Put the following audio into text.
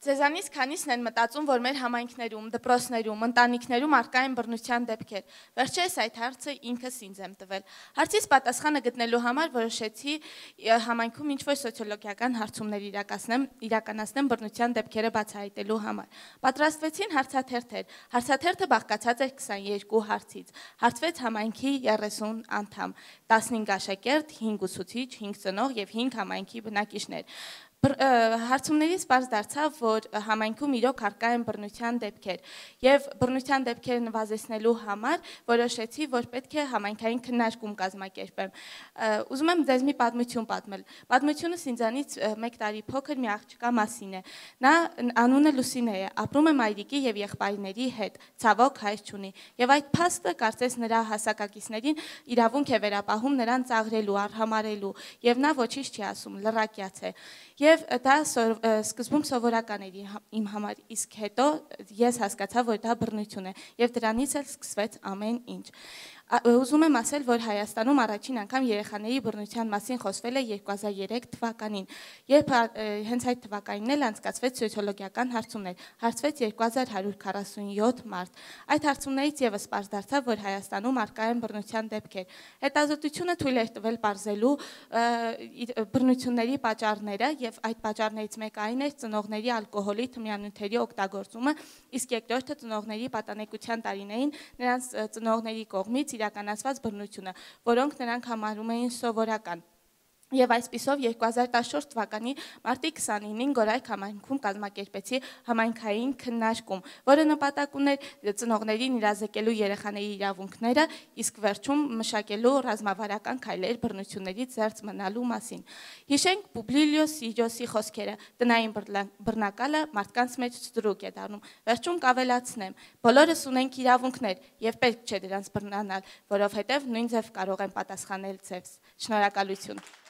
Ձեզանից քանիսն են մտածում, որ մեր համայնքներում, դպրոցներում, ընտանիքներում առկա են բռնության դեպքեր։ Վերջերս այդ հարցը ինքս ինձ եմ տվել։ Հարցից պատասխանը գտնելու համար որոշեցի համայնքում ինչ-որ սոցիոլոգիական հարցումներ իրականացնեմ բռնության դեպքերը բացահայտելու համար։ Պատրաստվեցին հարցաթերթեր։ Հարցաթերթը բաղկացած էր 22 հարցից։ Հարցվեց համայնքի 30 անդամ, 15 աշակերտ, 5 ուսուցիչ, 5 ծնող եւ 5 համայնքի բնակիչներ։ Հարցումներից պարզ դարձավ, որ համայնքում իրոք առկա են բռնության դեպքեր եւ բռնության դեպքերը նվազեցնելու համար որոշեցի, որ պետք է համայնքային քննարկում կազմակերպեմ։ Ուզում եմ ձեզ մի պատմություն պատմել։ Պատմությունս ինձանից 1 տարի փոքր մի աղջկա մասին է։ Նա անունը Լուսինե է, ապրում է մայրիկի եւ եղբայրների հետ, ցավոք հայր չունի։ Եվ այդ փաստը կարծես նրա հասակակիցներին իրավունք է վերապահում նրան ծաղրելու, արհամարհելու, եւ նա ոչինչ չի ասում, լռակյաց է։ Եվ դա սկզբում սովորական էր իմ համար, իսկ հետո ես հասկացա, որ դա բռնություն է, եւ դրանից էլ սկսվեց ամեն ինչ։ Ուզում եմ ասել, որ Հայաստանում առաջին անգամ երեխաների բռնության մասին խոսվել է 2003 թվականին, երբ հենց այդ թվականին էլ անցկացվեց սոցիոլոգիական հարցումներ, հարցվեց 2147 մարդ։ Այդ հարցումներից եւս պարզ դարձավ, որ Հայաստանում առկա են բռնության դեպքեր։ Հետազոտությունը թույլ էր տվել պարզելու բռնությունների պատճառները, եւ այդ պատճառներից մեկը այն էր ծնողների ալկոհոլի, թմրանյութերի օգտագործումը, իսկ երկրորդը ծնողների պատանեկության տարիներին նրանց ծնողների կողմից իրականացված բռնությունը, որոնք նրանք համարում էին սովորական։ Եվ այսպիսով 2014 թվականի մարտի 29-ին Գորայք համայնքում կազմակերպեցի համայնքային քննարկում, որը նպատակ ուներ ծնողներին իրազեկելու երեխաների իրավունքները, իսկ վերջում մշակելու ռազմավարական քայլեր բռնություններից զերծ մնալու մասին։ Հիշենք Պուբլիո Սիրոսի խոսքերը. տնային բռնակալը մարդկանց մեջ ստրուկ է դառնում։ Վերջում կավելացնեմ, բոլորս ունենք իրավունքներ եւ պետք չէ դրանց բռնանալ, որովհետեւ նույն ձև կարող են պատասխանել ձեզ։ Շնորհակալություն։